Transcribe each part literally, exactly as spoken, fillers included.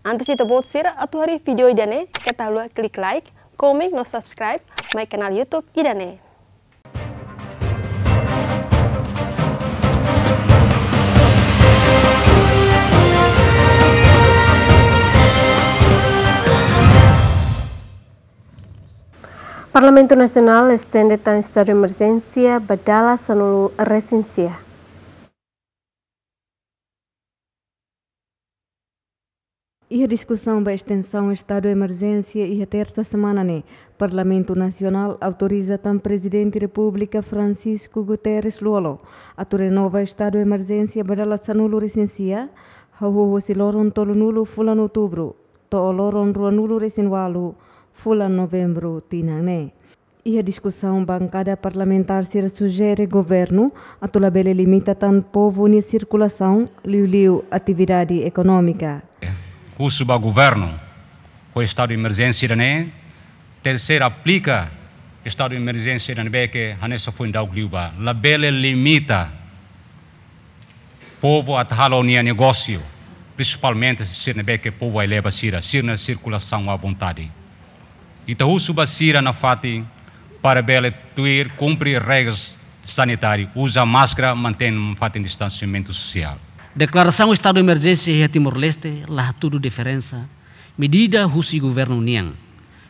Antes ita-boot sira atu haree vídeo ida-ne'e, keta haluha klik like, komen no subscribe mai kanál YouTube ida-ne'e. Parlamentu Nasionál estende tan estadu emerjénsia ba dala sanulu-resin-sia. Iha diskusaun ba estensaun estadu emerjénsia iha tersa semana ne'e, Parlamentu Nasionál autoriza tan Prezidente Repúblika Francisco Guterres Lú-Olo atu renova estadu emerjénsia ba dala sanulu-resin-sia, hahú husi loron tolunulu fulan Outubru to'o loron ruanulu-resin-ualu fulan Novembru tinan ne'e. Iha diskusaun, bankada parlamentár sira sujere governu atu labele limita tan povu nia sirkulasaun, liuliu atividade ekonómika. Husu ba governu, ho estadu emerjénsia ida-ne'e, tenke ser aplika estadu emerjénsia ida ne'ebé ke hanesan foin daudauk liubá, labele limita povu atu halo nia negósiu, prinsipalmente sira ne'ebé ke povu aileba sira, sira-nia sirkulasaun à vontade. Ita husu ba sira nafatin para bele tuir, kumpre regras sanitáriu, uza máskara, mantein nafatin distansiamentu sosiál. Deklarasaun estadu emerjénsia iha Timor-Leste la hatudu diferensa medida husi governu nian.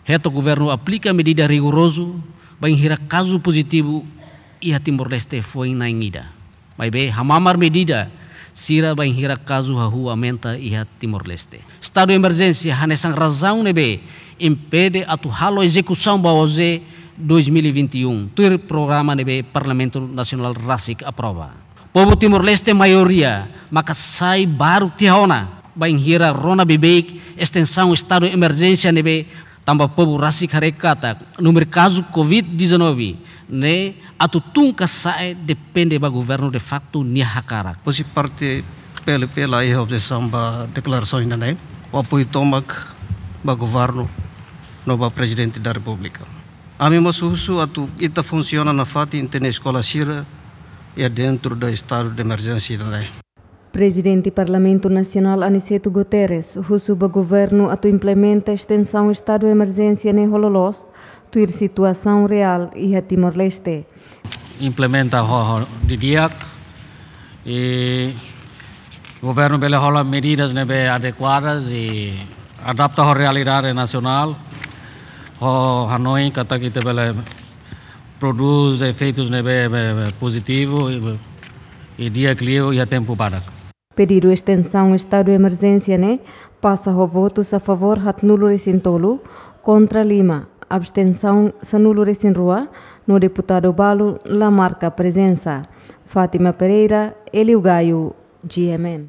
Hetan governu aplika medida rigorozu bainhira kazu pozitivu iha Timor-Leste foin na'in ida. Maibé hamamar medida sira bainhira kazu hahú aumenta iha Timor-Leste. Estadu emerjénsia hanesan razaun ne'ebé impede atu halo ezekusaun ba OJE dois mil e vinte e um, tuir programa ne'ebé Parlamentu Nasionál rasik aprova. Povu Timor-Leste maioria maka sai baruk tiha ona bainhira rona beibeik estensaun estadu emerjénsia ne'ebé, tanba povu rasik haree katak númeru kazu covid dezanove ne'e atu tun ka sa'e depende ba governu de facto nia hakarak. Husi parte PLP la iha objesaun ba deklarasaun ida-ne'e, ho apoiu tomak ba governu no ba Prezidente da Repúblika. Ami mós husu atu ita funsiona nafatin, tenke eskola sira iha dentru da estadu de emerjénsia ida-ne'e. Prezidente Parlamentu Nasionál Aniceto Guterres husu ba governu atu implementa estensaun estadu emerjénsia ne'e ho loloos, tuir situasaun reál iha Timor-Leste. Implementa ho, ho didi'ak, i governu bele hola medidas ne'ebé adekuadas i adapta ho realidade nasionál, ho hanoin katak ita bele prodús efeitus ne'ebé, be, be, pozitivu i, i di'ak liu iha tempu badak. Pedidu estensaun estadu emerjénsia ne'e pasa ho votus a favór haatnulu-resin-tolu, kontra lima, abstensaun sanulu-resin-rua, no deputadu balu la marka prezensa. Fátima Pereira, Hélio Gaio, G M N.